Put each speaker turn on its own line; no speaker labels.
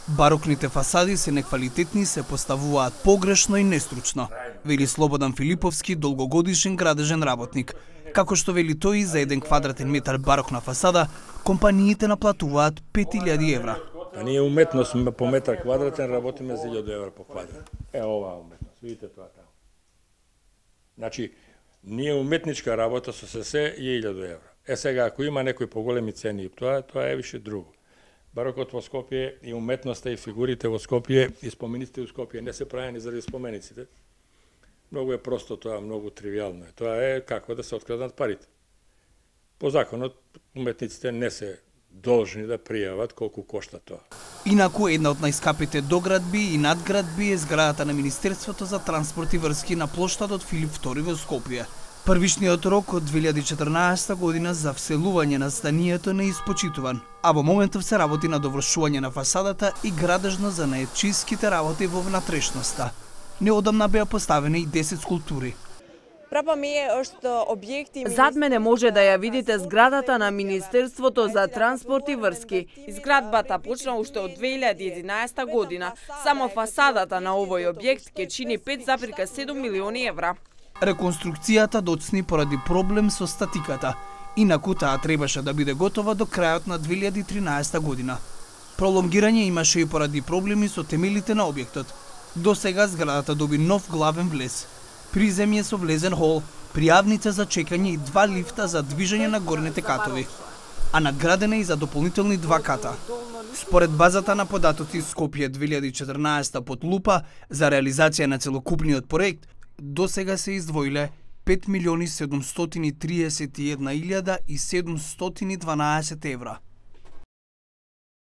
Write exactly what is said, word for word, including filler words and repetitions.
Барокните фасади се неквалитетни и се поставуваат погрешно и нестручно, вели Слободан Филиповски, долгогодишен градежен работник. Како што вели тој, за еден квадратен метар барокна фасада, компаниите наплатуваат пет илјади евра.
А ние уметност по метар квадратен работиме за илјаду евра по квадрат. Е, оваа уметност, видите тоа таму. Значи, ние уметничка работа со се се е илјаду евра. Е сега, ако има некои поголеми цени, тоа, тоа е више друго. Барокот во Скопје и уметноста и фигурите во Скопје и спомениците во Скопје не се правени заради спомениците. Многу е просто тоа, многу тривијално е. Тоа е како да се откраднат парите. По законот, уметниците не се должни да пријават колку кошта тоа.
Инаку, една од најскапите доградби и надградби е зградата на Министерството за транспорт и врски на плоштадот Филип втори во Скопје. Првишниот рок од две илјади и четрнаесетта година за вселување на зданието не е испочитуван, а во моментов се работи на довршување на фасадата и градежно за најчиските работи во внатрешноста. Неодамна беа поставени и десет скулптури.
Зад мене може да ја видите зградата на Министерството за транспорт и врски. Изградбата почна уште од две илјади и единаесетта година. Само фасадата на овој објект ќе чини пет зарез и седум милиони евра.
Реконструкцијата доцни поради проблем со статиката. Инаку таа требаше да биде готова до крајот на две илјади и тринаесетта година. Пролонгирање имаше и поради проблеми со темелите на објектот. До сега зградата доби нов главен влез, приземје со влезен хол, пријавница за чекање и два лифта за движење на горните катови, а надградена и за дополнителни два ката. Според базата на податоци Скопје две илјади и четрнаесетта под лупа за реализација на целокупниот проект, до сега се издвоиле пет милиони седумстотини триесет и една илјада и седумстотини дванаесет евра.